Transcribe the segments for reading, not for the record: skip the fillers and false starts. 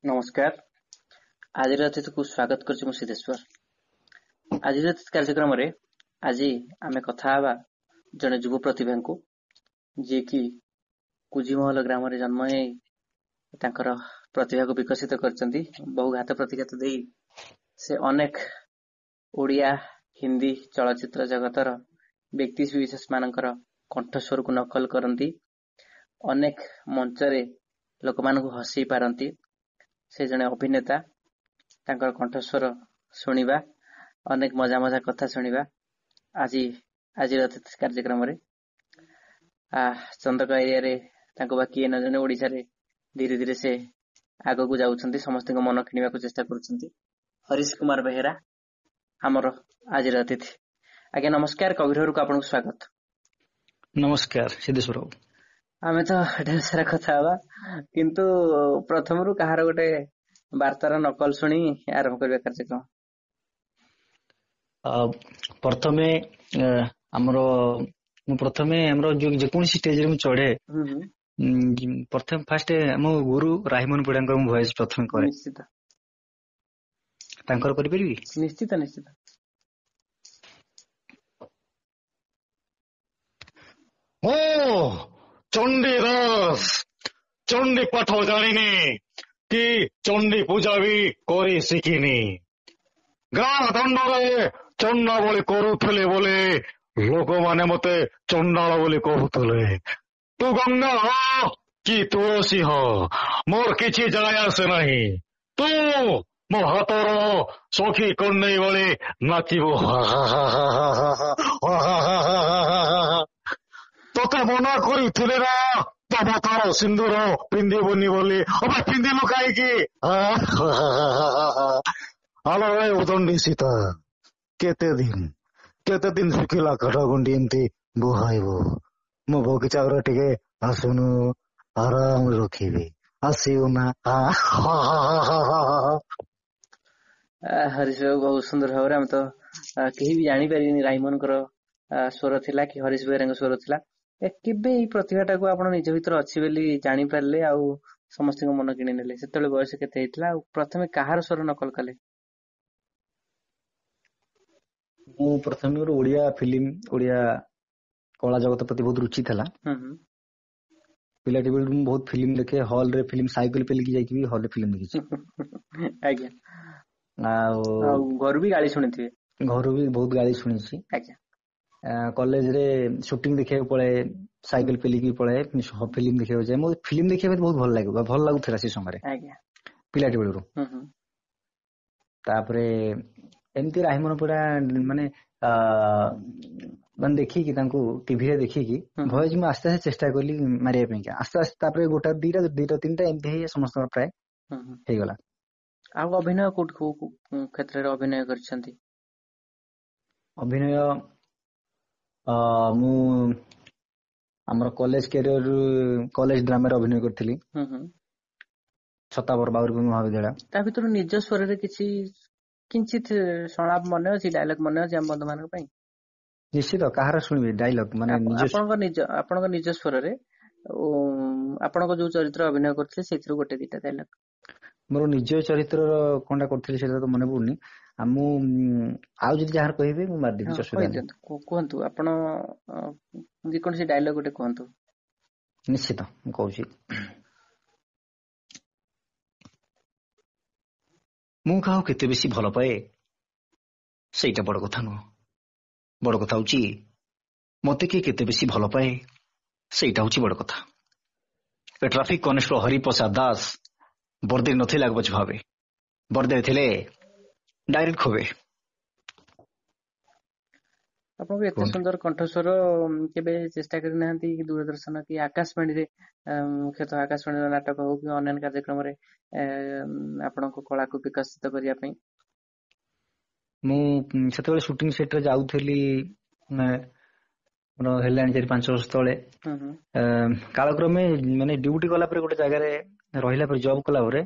ନମସ୍କାର। ଆଜିର ଅତିଥିକୁ ସ୍ୱାଗତ କରୁଛି ମୁଁ ସିଦ୍ଧେଶ୍ୱର। ଆଜିର ଅତିଥି କାର୍ଯ୍ୟକ୍ରମରେ ଆଜି ଆମେ କଥା ହେବା ଜଣେ ଯୁବ ପ୍ରତିଭାଙ୍କୁ, ଯିଏକି କୁଜିମହଲ ଗ୍ରାମରେ ଜନ୍ମ ହେଇ ତାଙ୍କର ପ୍ରତିଭାକୁ ବିକଶିତ କରିଛନ୍ତି। ବହୁ ଘାତ ପ୍ରତିଘାତ ଦେଇ ସେ ଅନେକ ଓଡ଼ିଆ, ହିନ୍ଦୀ ଚଳଚ୍ଚିତ୍ର ଜଗତର ବ୍ୟକ୍ତି ବିଶେଷ ମାନଙ୍କର କଣ୍ଠସ୍ୱରକୁ ନକଲ କରନ୍ତି, ଅନେକ ମଞ୍ଚରେ ଲୋକମାନଙ୍କୁ ହସେଇ ପାରନ୍ତି। ସେ ଜଣେ ଅଭିନେତା। ତାଙ୍କର କଣ୍ଠସ୍ୱର ଶୁଣିବା, ଅନେକ ମଜା ମଜା କଥା ଶୁଣିବା ଆଜି ଆଜିର ଅତିଥି କାର୍ଯ୍ୟକ୍ରମରେ। ଚନ୍ଦକା ଏରିଆରେ ତାଙ୍କୁ ବା କିଏ ନ ଜଣେ, ଓଡ଼ିଶାରେ ଧୀରେ ଧୀରେ ସେ ଆଗକୁ ଯାଉଛନ୍ତି, ସମସ୍ତଙ୍କ ମନ କିଣିବାକୁ ଚେଷ୍ଟା କରୁଛନ୍ତି। ହରିଶ କୁମାର ବେହେରା ଆମର ଆଜିର ଅତିଥି। ଆଜ୍ଞା ନମସ୍କାର, କବିର ଘରକୁ ଆପଣଙ୍କୁ ସ୍ୱାଗତ। ନମସ୍କାର ସିଦ୍ଧେଶ୍ୱର ବାବୁ। ଆମେ ତ ଢେର ସାରା କଥା ହବା, କିନ୍ତୁ ପ୍ରଥମରୁ କାହାର ଗୋଟେ ବାର୍ତ୍ତାର ନକଲ ଶୁଣି ଆରମ୍ଭ କରିବା କାର୍ଯ୍ୟକ୍ରମ। ପ୍ରଥମେ ଆମର ମୁଁ ପ୍ରଥମେ ଆମର ଯୋଉ ଯେକୌଣସି ଷ୍ଟେଜରେ ମୁଁ ଚଢେ, ପ୍ରଥମେ ଫାଷ୍ଟ ଆମ ଗୁରୁ ରାହିମୋହନ ପରିଡ଼ାଙ୍କର ମୁଁ ଭଏସ ପ୍ରଥମେ କରେ। ନିଶ୍ଚିତ। ତାଙ୍କର କରିପାରିବି? ନିଶ୍ଚିତ ନିଶ୍ଚିତ। ମୁଁ ଚଣ୍ଡୀଦାସ, ଚଣ୍ଡୀ ପାଠ ଜାଣିନି କି ଚଣ୍ଡୀ ପୂଜା ବି କରି ଶିଖିନି। ଗାଁ ଦଣ୍ଡରେ ଚଣ୍ଡା ବଳି କରୁଥିଲେ ବୋଲି ଲୋକମାନେ ମତେ ଚଣ୍ଡାଳ ବୋଲି କହୁଥିଲେ। ତୁ ଗଙ୍ଗା ହ କି ତୁଳସୀ ହ, ମୋର କିଛି ଯାଏ ଆସେ ନାହିଁ। ତୁ ମୋ ହାତର ସଖୀ କଣ୍ଢେଇ ଭଳି ନାଚିବୁ। ତତେ ମନା କରିଥିଲେ ନା ତମ ତାର ସିନ୍ଦୁର ପିନ୍ଧିବୁନି ବୋଲି, ଅବେ ପିନ୍ଧିଲୁ କାହିଁକି? ଆଲୋ ଏ ଉଦଣ୍ଡି ସୀତା, କେତେ ଦିନ କେତେ ଦିନ ଶୁଖିଲା କାଠଗୁଣ୍ଡି ଏମିତି ବୁହାଇବୁ? ମୋ ବଗିଚା ଘରେ ଟିକେ ଆସୁନୁ, ଆରାମରେ ରଖିବି, ଆସିବୁ ନା? ହରିଶ ବାବୁ ବହୁତ ସୁନ୍ଦର ଭାବରେ, ଆମେ ତ କେହି ବି ଜାଣିପାରିବେନି ରାଇମୋହନଙ୍କର ସ୍ୱର ଥିଲା କି ହରିଶ ବେହେରାଙ୍କ ସ୍ୱର ଥିଲା। କେବେ ଏଇ ପ୍ରତିଭାଟାକୁ ଆପଣ ନିଜ ଭିତରେ ଅଛି ବୋଲି ଜାଣିପାରିଲେ ଆଉ ସମସ୍ତଙ୍କ ମନ କିଣି ନେଲେ? ସେତେବେଳେ ବୟସ କେତେ ହେଇଥିଲା ଆଉ ପ୍ରଥମେ କାହାର ସ୍ୱର ନକଲ କଲେ? ମୁଁ ପ୍ରଥମେ ମୋର ଓଡିଆ ଫିଲ୍ମ, ଓଡିଆ କଳା ଜଗତ ପ୍ରତି ବହୁତ ରୁଚି ଥିଲା। ପିଲାଟି ବେଳୁ ମୁଁ ବହୁତ ଫିଲ୍ମ ଦେଖେ, ହଲ ରେ ଫିଲ୍ମ, ସାଇକେଲ ପେଲିକି ଯାଇକି ବି ହଲ ରେ ଫିଲ୍ମ ଦେଖିଛି। ଆଜ୍ଞା। ଆଉ ଘରୁ ବି ଗାଳି ଶୁଣିଥିବେ? ଘରୁ ବି ବହୁତ ଗାଳି ଶୁଣିଛି। ଆଜ୍ଞା। କଲେଜରେ ସୁଟିଂ ଦେଖିବାକୁ ପଳାଏ, ସାଇକେଲ ପେଲିକି ପଳାଏ, ଫିଲ୍ମ ଦେଖିବାକୁ ଯାଏ। ମୋ ଫିଲ୍ମ ଦେଖିବା ପାଇଁ ବହୁତ ଭଲ ଲାଗେ, ଭଲ ଲାଗୁଥିଲା ସେ ସମୟରେ। ଆଜ୍ଞା। ପିଲାଟି ବେଳରୁ। ତାପରେ ଏମିତି ରାହିମୋହନ ପରିଡ଼ା ମାନେ ମାନେ ଦେଖିକି, ତାଙ୍କୁ ଟିଭିରେ ଦେଖିକି ଭଏସ ମୁଁ ଆସ୍ତେ ଆସ୍ତେ ଚେଷ୍ଟା କଲି ମାରିବା ପାଇଁକା, ଆସ୍ତେ ଆସ୍ତେ। ତାପରେ ଗୋଟା ଦିଟା, ଦିଟା ତିନିଟା, ଏମିତି ହେଇ ସମସ୍ତଙ୍କର ପ୍ରାୟ ହେଇଗଲା। ଆଉ ଅଭିନୟ କୋଉଠି କୋଉ କ୍ଷେତ୍ରରେ ଅଭିନୟ କରିଛନ୍ତି? ଅଭିନୟ ମୁଁ ଆମର କଲେଜ କ୍ୟାରିୟର, କଲେଜ ଡ୍ରାମାରେ ଅଭିନୟ କରିଥିଲି, ଛତାବର ବାଉରୀପୁର ମହାବିଦ୍ୟାଳୟ। ତା ଭିତରୁ ନିଜ ସ୍ୱରରେ କିଛି କିଞ୍ଚିତ ସଂଳାପ ମନେ ଅଛି, ଡାଇଲଗ ମନେ ଅଛି ଆମ ବନ୍ଧୁ ମାନଙ୍କ ପାଇଁ? ନିଶ୍ଚିତ। କାହାର ଶୁଣିବେ ଡାଇଲଗ? ମାନେ ଆପଣଙ୍କ ନିଜ ସ୍ୱରରେ ଆପଣଙ୍କ ଯୋଉ ଚରିତ୍ର ଅଭିନୟ କରୁଥିଲେ ସେଇଥିରୁ ଗୋଟେ ଦିଟା ଡାଇଲଗ। ମୋର ନିଜ ଚରିତ୍ରର କଣଟା କରୁଥିଲି ସେଇଟା ତ ମନେ ପଡୁନି। ଆଉ ମୁଁ ଆଉ ଯଦି ଯାହାର କହିବେ ମୁଁ ମାରିଦେବି, ଅସୁବିଧା ନାହିଁ। କୁହନ୍ତୁ ଆପଣ ଯେକୌଣସି ଡାଇଲଗ ଗୋଟେ କୁହନ୍ତୁ। ନିଶ୍ଚିତ ମୁଁ କହୁଛି। ମୁଁ କାହାକୁ କେତେ ବେଶୀ ଭଲ ପାଏ ସେଇଟା ବଡ କଥା ନୁହଁ, ବଡ କଥା ହଉଛି ମତେ କିଏ କେତେ ବେଶୀ ଭଲ ପାଏ ସେଇଟା ହଉଛି ବଡ କଥା। ଏ ଟ୍ରାଫିକ କନେଷ୍ଟବଳ ହରିପ୍ରସାଦ ଦାସ ବର୍ଦ୍ଦିରେ ନଥିଲେ ଆଗ ପଛ ଭାବେ, ବର୍ଦ୍ଦିରେ ଥିଲେ ଡାଇରେକ୍ଟ ଖୋବେ। ଆପଣଙ୍କୁ ଏତେ ସୁନ୍ଦର କଣ୍ଠସ୍ୱର, କେବେ ଚେଷ୍ଟା କରିନାହାନ୍ତି କି ଦୂରଦର୍ଶନ କି ଆକାଶବାଣୀରେ, ମୁଖ୍ୟତଃ ଆକାଶବାଣୀର ନାଟକ ହଉ କି ଅନ୍ୟାନ୍ୟ କାର୍ଯ୍ୟକ୍ରମରେ ଆପଣଙ୍କ କଳାକୁ ବିକଶିତ କରିବା ପାଇଁ? ମୁଁ ସେତେବେଳେ ସୁଟିଂ ସେଟରେ ଯାଉଥିଲି, ମୋର ହେଲାଣି 4-5 ବର୍ଷ ତଳେ। କାଳକ୍ରମେ ମାନେ ଡ୍ୟୁଟି କଲା ପରେ, ଗୋଟେ ଜାଗାରେ ରହିଲା ପରେ, ଜବ୍ କଲା ପରେ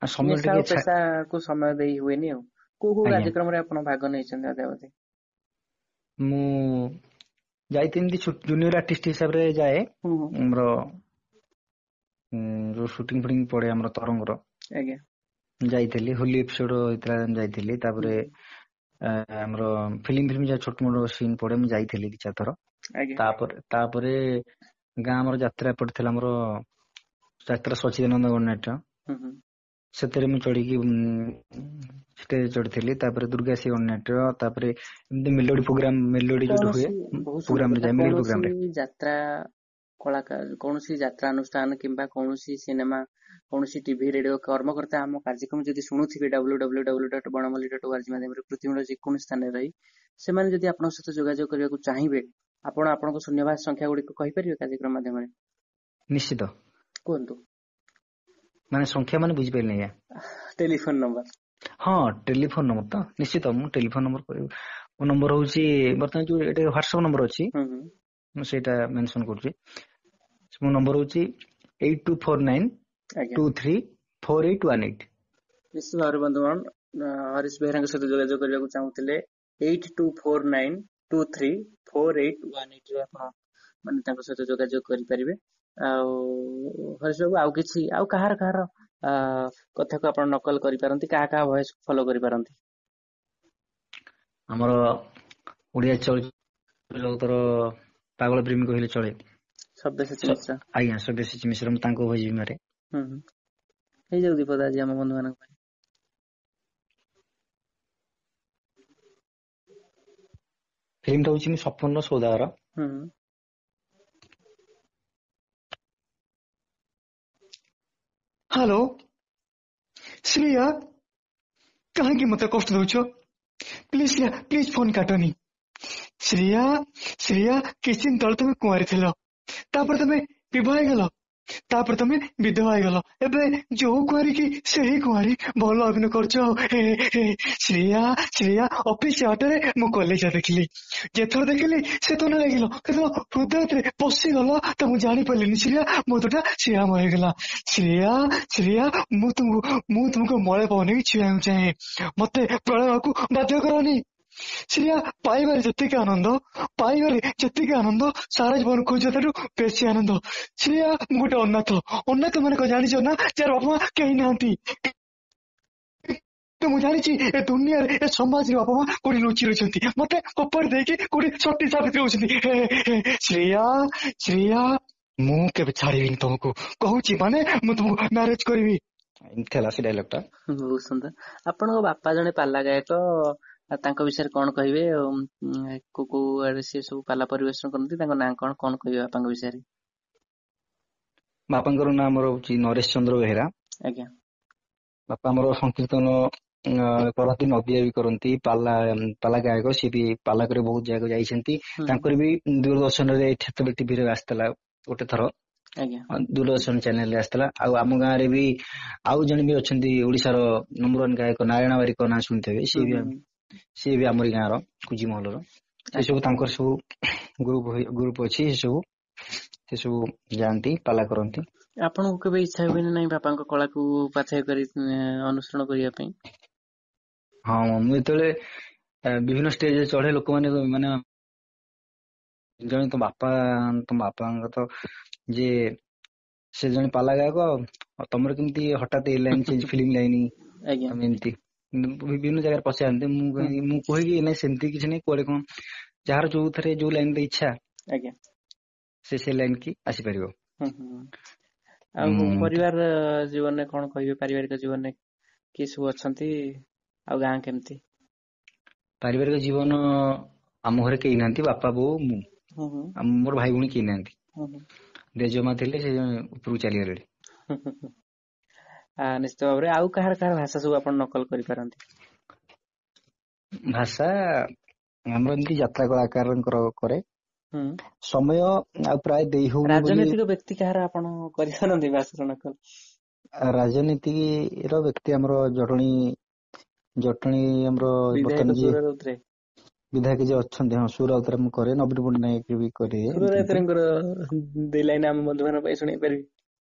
ସମୟ ଟିକେ ପେଶାକୁ ସମୟ ଦେଇ ହୁଏନି। ଆଉ କୋଉ କୋଉ କାର୍ଯ୍ୟକ୍ରମରେ ଆପଣ ଭାଗ ନେଇଛନ୍ତି ଅଦ୍ୟାବଧି? ମୁଁ ଯାଇଥିଲି ଏମିତି ଜୁନିୟର ଆର୍ଟିଷ୍ଟ ହିସାବରେ ଯାଏ। ଆମର ଯୋଉ ସୁଟିଂ ଫୁଟିଂ ପଡେ ଆମର ତରଙ୍ଗର, ଆଜ୍ଞା। ଯାଇଥିଲି, ହୋଲି ଏପିସୋଡ ହେଇଥିଲା ଯାଇଥିଲି। ତାପରେ ଆମର ଫିଲ୍ମ ଯାହା ଛୋଟ ମୋଟ ସିନ୍ ପଡେ ମୁଁ ଯାଇଥିଲି 2-4 ଥର। ଆଜ୍ଞା। ତାପରେ ଗାଁ ଆମର ଯାତ୍ରା ପଡିଥିଲା, ଆମର ଯାତ୍ରା ସଚିଦାନନ୍ଦ ଗଣନାଟ୍ୟ, ସେଥିରେ ମୁଁ ଚଢିକି ଷ୍ଟେଜ ଚଢିଥିଲି। ତାପରେ ଦୁର୍ଗାଶ୍ରୀ ଗଣନାଟ୍ୟ, ତାପରେ ଏମିତି ମେଲୋଡି ପ୍ରୋଗ୍ରାମ, ମେଲୋଡି ଯୋଉଠି ହୁଏ ପ୍ରୋଗ୍ରାମରେ ଯାଏ, ମେଲୋଡି ପ୍ରୋଗ୍ରାମରେ। ଯାତ୍ରା କଳାକାର, କୌଣସି ଯାତ୍ରା ଅନୁଷ୍ଠାନ କିମ୍ବା କୌଣସି ସିନେମା, କୌଣସି ଟିଭି ରେଡିଓ କର୍ମକର୍ତ୍ତା ଆମ କାର୍ଯ୍ୟକ୍ରମ ଯଦି ଶୁଣୁଥିବେ www.banamali.org ମାଧ୍ୟମରେ ପୃଥିବୀର ଯେକୌଣସି ସ୍ଥାନରେ ରହି ସେମାନେ ଯଦି ଆପଣଙ୍କ ସହିତ ଯୋଗାଯୋଗ କରିବାକୁ ଚାହିଁବେ, ଆପଣ ଆପଣଙ୍କ ଶୂନ୍ୟବାସ ସଂଖ୍ୟା ଗୁଡିକ କହିପାରିବେ କାର୍ଯ୍ୟକ୍ରମ ମାଧ୍ୟମରେ? ନିଶ୍ଚିତ। କୁହନ୍ତୁ। ମାନେ ସଂଖ୍ୟା ମାନେ ବୁଝିପାରିଲିନି ଆଜ୍ଞା। Telephone number. ହଁ, ଟେଲିଫୋନ ନମ୍ବର ତ ନିଶ୍ଚିତ ମୁଁ ଟେଲିଫୋନ ନମ୍ବର କହିବି। ମୋ ନମ୍ବର ହଉଛି ବର୍ତ୍ତମାନ ଯୋଉ ଏଇଟା ହ୍ୱାଟ୍ସଆପ ନମ୍ବର ଅଛି, ମୁଁ ସେଇଟା ମେନସନ କରୁଛି। ମୋ ନମ୍ବର ହଉଛି 8249 234818। ନିଶ୍ଚିତ ଭାବରେ ବନ୍ଧୁଗଣ, ହରିଶ ବେହେରାଙ୍କ ସହିତ ଯୋଗାଯୋଗ କରିବାକୁ ଚାହୁଁଥିଲେ 8249 234818 ରେ ଆପଣ ମାନେ ତାଙ୍କ ସହିତ ଯୋଗାଯୋଗ କରିପାରିବେ। ଆଉ ହରିଶ ବାବୁ, ଆଉ କିଛି, ଆଉ କାହାର କାହାର କଥାକୁ ଆପଣ ନକଲ କରିପାରନ୍ତି, କାହା କାହା ଭଏସ ଫଲୋ କରିପାରନ୍ତି? ଆମର ଓଡିଆ ଚଳଚ୍ଚିତ୍ର ଜଗତର ପାଗଳ ପ୍ରେମୀ କହିଲେ ଚଳେ, ସବ୍ୟସାଚୀ ମିଶ୍ର। ଆଜ୍ଞା, ସବ୍ୟସାଚୀ ମିଶ୍ର, ମୁଁ ତାଙ୍କ ଭଏସ ବି ମାରେ। ହେଇଯାଉ ଦୀପଦ ଆଜି ଆମ ବନ୍ଧୁ ମାନଙ୍କ ପାଇଁ। ଫିଲ୍ମଟା ହଉଛି ମୁଁ ସପନର ସୌଦାଗର। ହ୍ୟାଲୋ ଶ୍ରେୟା, କାହିଁକି ମତେ କଷ୍ଟ ଦଉଛ? ପ୍ଲିଜ ଶ୍ରେୟା, ପ୍ଲିଜ ଫୋନ କାଟନି। ଶ୍ରେୟା, ଶ୍ରେୟା, କିଛି ଦିନ ତଳେ ତମେ କୁଆଁରୀ ଥିଲ, ତାପରେ ତମେ ବିବାହ ହେଇଗଲ, ତାପରେ ତମେ ବିଧବା ହେଇଗଲ, ଏବେ ଯୋଉ କୁଆଁରୀ କି ସେଇ କୁଆଁରୀ, ଭଲ ଅଭିନୟ କରୁଛ। ଶ୍ରେୟା, ଶ୍ରେୟା, ଅଫିସ ବାଟରେ ମୁଁ କଲେଜ ଦେଖିଲି, ଯେଥର ଦେଖିଲି ସେ ତ ଲାଗିଲ, କିନ୍ତୁ ହୃଦୟରେ ପଶିଗଲ ତ ମୁଁ ଜାଣିପାରିଲିନି ଶ୍ରେୟା, ମୋ ଦୁଟା ଶ୍ରେୟାମୟ ହେଇଗଲା। ଶ୍ରେୟା, ଶ୍ରେୟା, ମୁଁ ତୁମକୁ ମଳେ ପବନେଇକି ଛୁଇଁବାକୁ ଚାହେଁ, ମତେ ପ୍ରଳୟକୁ ବାଧ୍ୟ କରନି। ଶ୍ରେୟା, ପାଇବାରେ ଯେତିକି ଆନନ୍ଦ, ପାଇବାରେ ଯେତିକି ଆନନ୍ଦ, ସାରା ଜୀବନ ଖୋଜିବା ଠାରୁ ବେଶୀ ଆନନ୍ଦ। ଶ୍ରେୟା, ମୁଁ ଗୋଟେ ଅନାଥ। ଅନାଥ ମାନେ କଣ ଜାଣିଛ ନା? ଯାହାର ବାପା ମା କେହି ନାହାନ୍ତି। ତ ମୁଁ ଜାଣିଛି ଏ ଦୁନିଆରେ, ଏ ସମାଜରେ ବାପା ମା କୋଉଠି ଲୁଚି ରହିଛନ୍ତି, ମତେ କପଡ ଦେଇକି କୋଉଠି ସତୀ ସାବିତ୍ରୀ ହଉଛନ୍ତି। ଶ୍ରେୟା, ଶ୍ରେୟା, ମୁଁ କେବେ ଛାଡିବିନି ତମକୁ, କହୁଛି ମାନେ ମୁଁ ତମକୁ ମ୍ୟାରେଜ କରିବି। ଏମିତି ହେଲା ସେ ଡାଇଲଗ ଟା। ବହୁତ ସୁନ୍ଦର। ଆପଣଙ୍କ ବାପା ଜଣେ ପାଲା ଗାୟକ, ତାଙ୍କ ବିଷୟରେ କଣ କହିବେ? କୋଉ କୋଉ ଆଡେ ସିଏ ସବୁ ପାଲା ପରିବେଷଣ କରନ୍ତି, ତାଙ୍କ ନାଁ କଣ, କଣ କହିବେ ବାପାଙ୍କ ବିଷୟରେ? ବାପାଙ୍କର ନାଁ ଆମର ହଉଛି ନରେଶ ଚନ୍ଦ୍ର ବେହେରା। ଆଜ୍ଞା। ବାପା ଆମର ସଂକୀର୍ତ୍ତନ କରନ୍ତି, ନଦିଆ ବି କରନ୍ତି, ପାଲା ପାଲା ଗାୟକ, ସିଏ ବି ପାଲା କରି ବହୁତ ଜାଗାକୁ ଯାଇଛନ୍ତି। ତାଙ୍କର ବି ଦୂରଦର୍ଶନରେ ସେତେବେଳେ ଟିଭିରେ ଆସିଥିଲା ଗୋଟେ ଥର, ଆଜ୍ଞା, ଦୂରଦର୍ଶନ ଚ୍ୟାନେଲରେ ଆସିଥିଲା। ଆଉ ଆମ ଗାଁରେ ବି ଆଉ ଜଣେ ବି ଅଛନ୍ତି ଓଡିଶାର ନମ୍ବର 1 ଗାୟକ ନାରାୟଣ ବାରିକ, ନାଁ ଶୁଣିଥିବେ, ସିଏ ବି ଆମରି ଗାଁର କୁଜି ମହଲର। ସେ ସବୁ ତାଙ୍କର ସବୁ ଗ୍ରୁପ ଅଛି, ସେ ସବୁ ଯାଆନ୍ତି ପାଲା କରନ୍ତି। ଆପଣଙ୍କୁ କେବେ ଇଚ୍ଛା ହୁଏନି ନାଇଁ ବାପାଙ୍କ କଳାକୁ ପାଥେୟ କରି ଅନୁସରଣ କରିବା ପାଇଁ? ହଁ, ମୁଁ ଯେତେବେଳେ ବିଭିନ୍ନ ଷ୍ଟେଜରେ ଚଢେ, ଲୋକମାନେ ମାନେ ଜଣେ ତମ ବାପା, ତମ ବାପାଙ୍କ ତ ଯେ ସେ ଜଣେ ପାଲା ଗାୟକ, ଆଉ ତମର କେମିତି ହଠାତ୍ ଏ ଲାଇନ ଚେଞ୍ଜ, ଫିଲ୍ମ ଲାଇନ, ତମେ ଏମିତି ବିଭିନ୍ନ ଜାଗାରେ ପଚାରନ୍ତି। ମୁଁ କୁହେ କି ନାଇଁ ସେମିତି କିଛି ନାଇଁ, କୁଆଡେ କଣ ଯାହାର ଯୋଉଥିରେ ଯୋଉ ଲାଇନରେ ଇଚ୍ଛା, ଆଜ୍ଞା, ସେ ଲାଇନ କି ଆସିପାରିବ। ଆଉ ପରିବାର ଜୀବନରେ କଣ କହିବେ? ପାରିବାରିକ ଜୀବନରେ କିଏ ସବୁ ଅଛନ୍ତି ଆଉ ଗାଁ କେମିତି? ପାରିବାରିକ ଜୀବନ ଆମ ଘରେ କେହି ନାହାନ୍ତି, ବାପା ବୋଉ ମୁଁ, ମୋର ଭାଇ ଭଉଣୀ କେହି ନାହାନ୍ତି। ଜେଜେମା ଥିଲେ, ସେ ଉପରକୁ ଚାଲିଗଲେଣି। ନିଶ୍ଚିତ ଭାବରେ। ଆଉ କାହାର କାହାର ଭାଷା ସବୁ ଆପଣ ନକଲ କରିପାରନ୍ତି? ଭାଷା ଆମର ଏମିତି ଯାତ୍ରା କଳାକାରଙ୍କର କରେ, ସମୟ ଆଉ ପ୍ରାୟ ଦେଇ ହଉନି। ରାଜନୈତିକ ବ୍ୟକ୍ତି କାହାର ଆପଣ କରିପାରନ୍ତି ଭାଷାର ନକଲ? ରାଜନୀତିର ବ୍ୟକ୍ତି ଆମର ଜଟଣୀ, ଜଟଣୀ ଆମର ବର୍ତ୍ତମାନ ଯିଏ ବିଧାୟକ ଯିଏ ଅଛନ୍ତି, ହଁ, ସୁର ରାଉତରାୟ ମୁଁ କରେ, ନବୀନ ପଟ୍ଟନାୟକ ବି କରେ। ସୁର ରାଉତରାୟଙ୍କର ଦି ଲାଇନ ଆମ ବନ୍ଧୁମାନଙ୍କ ପାଇଁ ଶୁଣେଇ ପାରିବି?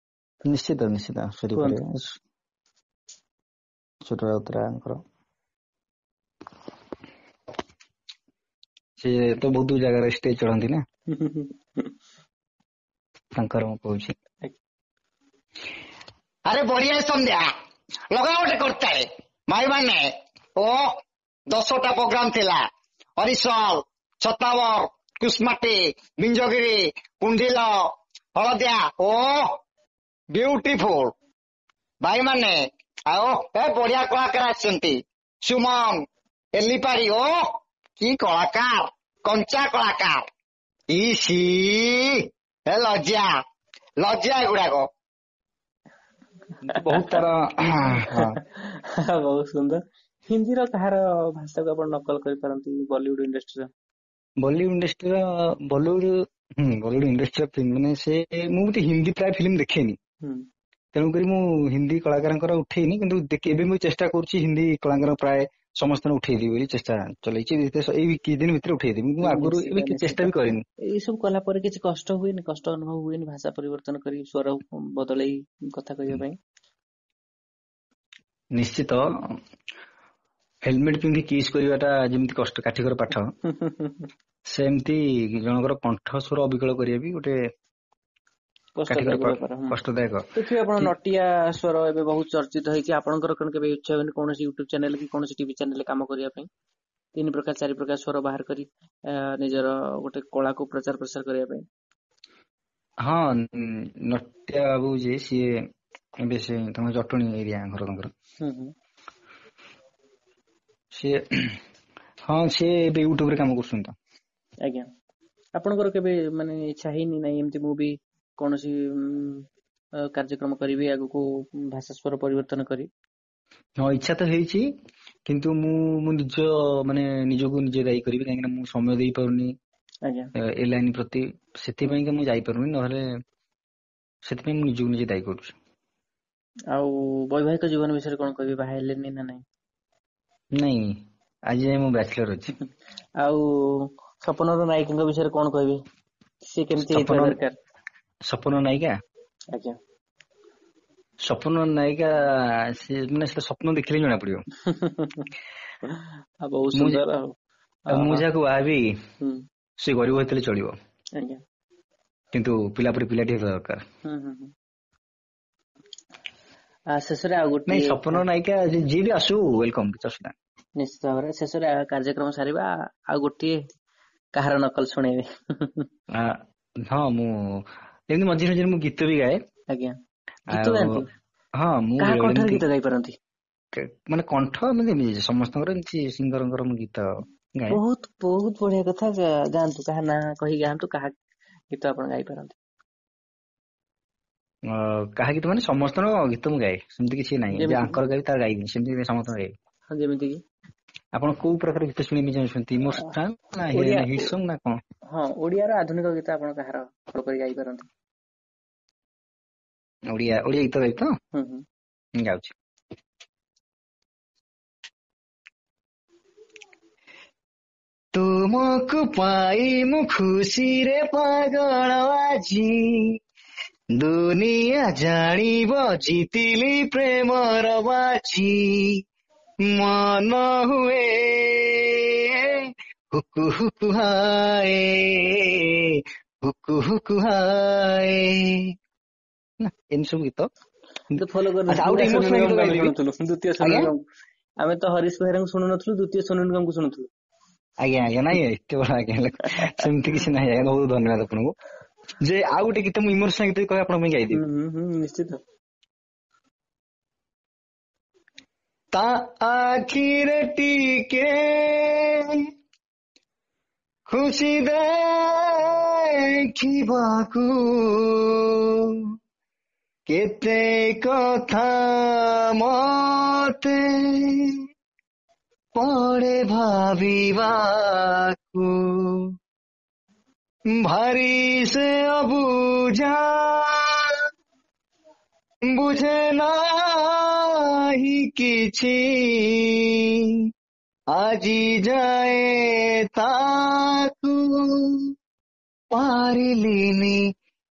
ନିଶ୍ଚିତ, ନିଶ୍ଚିତ ଶୁଣିପାରିବେ ସୁର ରାଉତରାୟଙ୍କର। ସେ ତ ବହୁତ ଜାଗାରେ ଷ୍ଟେଜ ଚଢନ୍ତି ନା, ତାଙ୍କର ମୁଁ କହୁଛି। ଆରେ ବଢିଆ ସନ୍ଧ୍ୟା, ଲଗା ଗୋଟେ କରିଥାଏ ଭାଇ ମାନେ। ଓ 10ଟା ପ୍ରୋଗ୍ରାମ ଥିଲା, ହରିଶଲ, ଛତାବର, କୁସମାଟି, ବିଞ୍ଜଗିରି, କୁଣ୍ଡିଲ, ହଳଦିଆ। ଓ ବ୍ୟୁଟିଫୁଲ ଭାଇ ମାନେ। ଆଉ ଏ ବଢିଆ କଳାକାର ଆସିଛନ୍ତି, ସୁମନ, ଏଲିପାରି। ଓ କି କଳାକାର, କଞ୍ଚା କଳାକାର। ଇସି ଏ ଲଜ୍ଜା, ଲଜ୍ଜା ଏଗୁଡାକ ବହୁତ ତାର। ବହୁତ ସୁନ୍ଦର। ହିନ୍ଦୀର କାହାର ଭାଷାକୁ ଆପଣ ନକଲ କରିପାରନ୍ତି ବଲିଉଡ ଇଣ୍ଡଷ୍ଟ୍ରିର? ବଲିଉଡ ଇଣ୍ଡଷ୍ଟ୍ରିର, ବଲିଉଡ, ବଲିଉଡ ଇଣ୍ଡଷ୍ଟ୍ରିର ମାନେ ସେ ମୁଁ ବି ହିନ୍ଦୀ ପ୍ରାୟ ଫିଲ୍ମ ଦେଖେନି, ତେଣୁକରି ମୁଁ ହିନ୍ଦୀ କଳାକାରଙ୍କର ଉଠେଇନି। କିନ୍ତୁ ଏବେ ମୁଁ ଚେଷ୍ଟା କରୁଛି ହିନ୍ଦୀ କଳାକାର ପ୍ରାୟ ସମସ୍ତଙ୍କୁ ଉଠେଇଦେବି ବୋଲି ଚେଷ୍ଟା ଚଲେଇଛି। ଏଇ କିଛି ଦିନ ଭିତରେ ଉଠେଇଦେବି। ମୁଁ ଆଗରୁ ଏବେ ଚେଷ୍ଟା ବି କରିନି। ଏଇ ସବୁ କଲା ପରେ କିଛି କଷ୍ଟ ହୁଏନି? କଷ୍ଟ ଅନୁଭବ ହୁଏନି ଭାଷା ପରିବର୍ତ୍ତନ କରି ସ୍ୱର ବଦଳେଇ କଥା କହିବା ପାଇଁ? ନିଶ୍ଚିତ, ହେଲମେଟ ପିନ୍ଧି କିସ୍ କରିବାଟା ଯେମିତି କଷ୍ଟ, କାଠିକର ପାଠ, ସେମିତି ଜଣଙ୍କର କଣ୍ଠ ସ୍ୱର ଅବିକଳ କରିବା ବି ଗୋଟେ କଷ୍ଟଦାୟକ। ଦେଖିବେ ଆପଣ ନଟିଆ ସ୍ୱର ଏବେ ବହୁତ ଚର୍ଚ୍ଚିତ ହେଇଛି। ଆପଣଙ୍କର କଣ କେବେ ଇଚ୍ଛା ହୁଏନି କୌଣସି ୟୁଟ୍ୟୁବ ଚ୍ୟାନେଲ କି କୌଣସି ଟିଭି ଚ୍ୟାନେଲରେ କାମ କରିବା ପାଇଁ, 3 ପ୍ରକାର 4 ପ୍ରକାର ସ୍ୱର ବାହାର କରି ନିଜର ଗୋଟେ କଳାକୁ ପ୍ରଚାର ପ୍ରସାର କରିବା ପାଇଁ? ହଁ, ନଟିଆ ବାବୁ ଯିଏ, ସିଏ ଏବେ ସେ ତାଙ୍କ ଜଟଣୀ ଏରିଆ ଘର ତାଙ୍କର, ସିଏ ହଁ ସିଏ ଏବେ ୟୁଟ୍ୟୁବରେ କାମ କରୁଛନ୍ତି ତ। ଆଜ୍ଞା, ଆପଣଙ୍କର କେବେ ମାନେ ଇଚ୍ଛା ହେଇନି ନାଇଁ ଏମିତି ମୁଁ ବି କୌଣସି କାର୍ଯ୍ୟକ୍ରମ କରିବି ଆଗକୁ ଭାଷା ସ୍ୱର ପରିବର୍ତ୍ତନ କରି? ହଁ, ଇଚ୍ଛା ତ ହେଇଛି, କିନ୍ତୁ ମୁଁ ନିଜ ମାନେ ନିଜକୁ ନିଜେ ଦାୟୀ କରିବି, କାହିଁକିନା ମୁଁ ସମୟ ଦେଇପାରୁନି ଏ ଲାଇନ ପ୍ରତି, ସେଥିପାଇଁ ମୁଁ ଯାଇପାରୁନି, ନହେଲେ ସେଥିପାଇଁ ମୁଁ ନିଜକୁ ନିଜେ ଦାୟୀ କରୁଛି। ଆଉ ବୈବାହିକ ଜୀବନ ବିଷୟରେ କଣ କହିବି, ବାହା ହେଲେନି ନା ନାଇଁ? ନାଇଁ, ଆଜି ଯାଏ ମୁଁ ବ୍ୟାଚଲର ଅଛି। ଆଉ ସପନର ନାୟିକାଙ୍କ ବିଷୟରେ କଣ କହିବି, ସେ କେମିତି ହେଇଥିବା ଦରକାର? ସପନ ନାୟିକା? ଆଜ୍ଞା, ସପନ ନାୟିକା ସେ ମାନେ ସେଟା ସ୍ୱପ୍ନ ଦେଖିଲେ ଜଣା ପଡିବ। ବହୁତ ସୁନ୍ଦର। ଆଉ ମୁଁ ଯାହାକୁ ବାହାବି ସେ ଗରିବ ହେଇଥିଲେ ଚଳିବ, କିନ୍ତୁ ପିଲା ପରି ପିଲାଟି ହେବା ଦରକାର। ଶେଷରେ ଆଉ ଗୋଟେ, ନାଇଁ ସପନ ନାୟିକା ଯିଏ ବି ଆସୁ welcome, କିଛି ଅସୁବିଧା। ନିଶ୍ଚିତ ଭାବରେ ଶେଷରେ କାର୍ଯ୍ୟକ୍ରମ ସାରିବା, ଆଉ ଗୋଟିଏ କାହାର ନକଲ ଶୁଣେଇବେ? ହଁ, ମୁଁ ଏମିତି ମଝିରେ ମଝିରେ ମୁଁ ଗୀତ ବି ଗାଏ। ଆଜ୍ଞା, ଗୀତ ଗାଆନ୍ତି? ହଁ, ମୁଁ କାହା କଣ୍ଠରେ ଗୀତ ଗାଇ ପାରନ୍ତି? ମାନେ କଣ୍ଠ ଏମିତି ସମସ୍ତଙ୍କର, ଏମିତି ସିଙ୍ଗରଙ୍କର ମୁଁ ଗୀତ ଗାଏ। ବହୁତ ବହୁତ ବଢିଆ କଥା। ଗାଆନ୍ତୁ, କାହା ନାଁ କହି ଗାଆନ୍ତୁ, କାହା ଗୀତ ଆପଣ ଗାଇ ପାରନ୍ତି? କାହା ଗୀତ ମାନେ ସମସ୍ତଙ୍କ ଗୀତ ମୁଁ ଗାଏ, ସେମିତି କିଛି ନାହିଁ ଯେ ଆଙ୍କର ଗାଇବି ତାର ଗାଇବିନି, ସେମିତି ସମସ୍ତଙ୍କ ଗାଇବି। ଯେମିତି କି ଆପଣ କୋଉ ପ୍ରକାର ଗୀତ ଶୁଣିବା ପାଇଁ ଚାହୁଁଛନ୍ତି, ଇମୋସନାଲ ନା ହିଟ୍ ସଙ୍ଗ ନା କଣ? ହଁ, ଓଡିଆର ଆଧୁନିକ ଗୀତ ଆପଣ କାହାର ଭଲ କରି ଗାଇ ପାରନ୍ତି? ଓଡିଆ ଓଡିଆ ଗୀତ ଗାଇବି ତ? ଗାଉଛି। ତୁମକୁ ପାଇ ମୁଁ ଖୁସିରେ ପାଗଳ ଆଜି, ଦୁନିଆ ଜାଣିବ ଜିତିଲି ପ୍ରେମର ବାଜି, ମନ ହୁଏ ହୁକୁ ହୁକୁ ହାଏ, ହୁକୁ ହୁକୁ ହାଏ। ଏମିତି ସବୁ ଗୀତ ଫଲୋ କରିନଥିଲୁ। ଦ୍ୱିତୀୟ ସୋନୁ ନିଗମ, ଆମେ ତ ହରିଶ ବେହେରାଙ୍କୁ ଶୁଣୁନଥିଲୁ, ଦ୍ୱିତୀୟ ସୋନୁ ନିଗମକୁ ଶୁଣୁଥିଲୁ। ଆଜ୍ଞା ଆଜ୍ଞା, ନାଇଁ ଏତେ ବଡ ଆଜ୍ଞା ସେମିତି କିଛି ନାହିଁ ଆଜ୍ଞା, ବହୁତ ଧନ୍ୟବାଦ ଆପଣଙ୍କୁ। ଯେ ଆଉ ଗୋଟେ ଗୀତ ମୁଁ ଇମୋସନାଲ ଗୀତ କହି ଆପଣଙ୍କ ପାଇଁ ଗାଇଦେବି। ନିଶ୍ଚିତ। ତା ଆଖିରେ ଟିକେ ଖୁସି ଦେଖିବାକୁ କେତେ କଥା ମତେ ପଡେ ଭାବିବାକୁ, ଭାରି ସେ ଅବୁଝା ବୁଝେ ନାହିଁ କିଛି, ଆଜି ଯାଏ ତାକୁ ପାରିଲିନି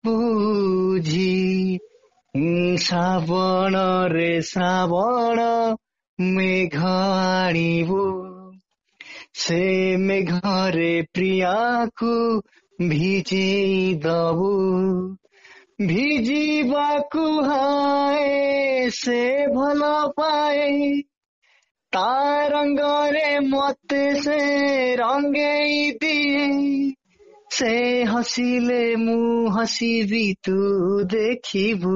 ବୁଝି, ଶ୍ରାବଣରେ ଶ୍ରାବଣ ମେଘ ଆଣିବୁ, ସେ ମେଘରେ ପ୍ରିୟାକୁ ଭିଜେଇ ଦବୁ, ଭିଜିବାକୁ ହାଏ ସେ ଭଲ ପାଏ, ତା ରଙ୍ଗରେ ମତେ ସେ ରଙ୍ଗେଇ ଦିଏ, ସେ ହସିଲେ ମୁଁ ହସିବି ତୁ ଦେଖିବୁ,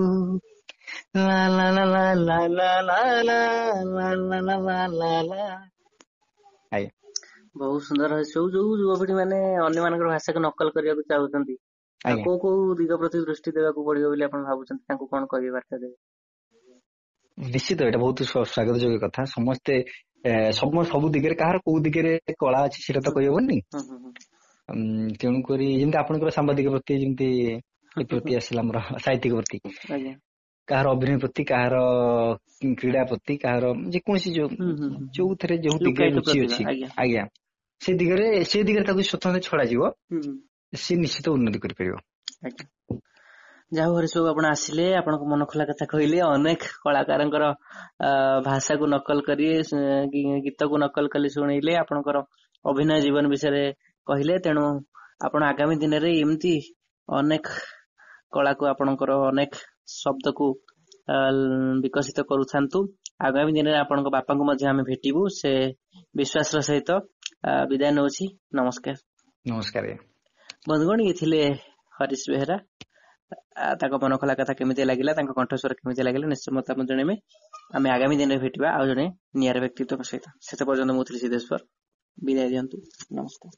ଲା ଲା ଲା ଲା ଲା ଲା ଲା ଲା ଲା ଲା ଲା ଲା ଲା ଲା। ଆଜ୍ଞା। ବହୁତ ସୁନ୍ଦର। ସବୁ ଯୋଉ ଯୁବପିଢି ମାନେ ଅନ୍ୟମାନଙ୍କର ଭାଷାକୁ ନକଲ କରିବାକୁ ଚାହୁଁଛନ୍ତି, ଆଜ୍ଞା, କୋଉ କୋଉ ଦିଗ ପ୍ରତି ଦୃଷ୍ଟି ଦେବାକୁ ପଡିବ ବୋଲି ଆପଣ ଭାବୁଛନ୍ତି, ତାଙ୍କୁ କଣ କହିବେ, ବାର୍ତ୍ତା ଦେବେ? ନିଶ୍ଚିତ ଏଇଟା ବହୁତ ସ୍ୱାଗତ ଯୋଗ୍ୟ କଥା। ସମସ୍ତେ ସବୁ ଦିଗରେ କାହାର କୋଉ ଦିଗରେ କଳା ଅଛି ସେଇଟା ତ କହିହବନି। ତେଣୁକରି ଯେମିତି ଆପଣଙ୍କର ସାମ୍ବାଦିକ ପ୍ରତି ଯେମିତି ପ୍ରତି ଆସିଲା, ଆମର ସାହିତ୍ୟିକ ପ୍ରତି, କାହାର ଅଭିନୟ ପ୍ରତି, କାହାର କ୍ରୀଡ଼ା ପ୍ରତି, କାହାର ଯେକୌଣସି ଯୋଉଥିରେ ଯୋଉ ଦିଗରେ ରୁଚି ଅଛି, ଆଜ୍ଞା, ସେ ଦିଗରେ ତାକୁ ସ୍ୱତନ୍ତ୍ର ଛଡାଯିବ, ସେ ନିଶ୍ଚିତ ଉନ୍ନତି କରିପାରିବ। ଆଜ୍ଞା, ଯାହା ହଉ ସବୁ ଆପଣ ଆସିଲେ, ଆପଣଙ୍କ ମନ ଖୋଲା କଥା କହିଲେ, ଅନେକ କଳାକାରଙ୍କର ଭାଷାକୁ ନକଲ କରି, ଗୀତକୁ ନକଲ କରି ଶୁଣେଇଲେ, ଆପଣଙ୍କର ଅଭିନୟ ଜୀବନ ବିଷୟରେ କହିଲେ। ତେଣୁ ଆପଣ ଆଗାମୀ ଦିନରେ ଏମିତି ଅନେକ କଳାକୁ, ଆପଣଙ୍କର ଅନେକ ଶବ୍ଦକୁ ବିକଶିତ କରୁଥାନ୍ତୁ। ଆଗାମୀ ଦିନରେ ଆପଣଙ୍କ ବାପାଙ୍କୁ ମଧ୍ୟ ଆମେ ଭେଟିବୁ, ସେ ବିଶ୍ୱାସର ସହିତ ବିଦାୟ ନେଉଛି। ନମସ୍କାର। ନମସ୍କାର ବନ୍ଧୁଗଣ, ଇଏ ଥିଲେ ହରିଶ ବେହେରା। ତାଙ୍କ ମନ ଖୋଲା କଥା କେମିତି ଲାଗିଲା, ତାଙ୍କ କଣ୍ଠସ୍ୱର କେମିତି ଲାଗିଲା, ନିଶ୍ଚୟ ମତାମତ ଜଣେଇବେ। ଆମେ ଆଗାମୀ ଦିନରେ ଭେଟିବା ଆଉ ଜଣେ ନିଆରା ବ୍ୟକ୍ତିତ୍ୱଙ୍କ ସହିତ। ସେତେ ପର୍ଯ୍ୟନ୍ତ ମୁଁ ଥିଲି ସିଦ୍ଧେଶ୍ୱର, ବିଦାୟ ଦିଅନ୍ତୁ। ନମସ୍କାର।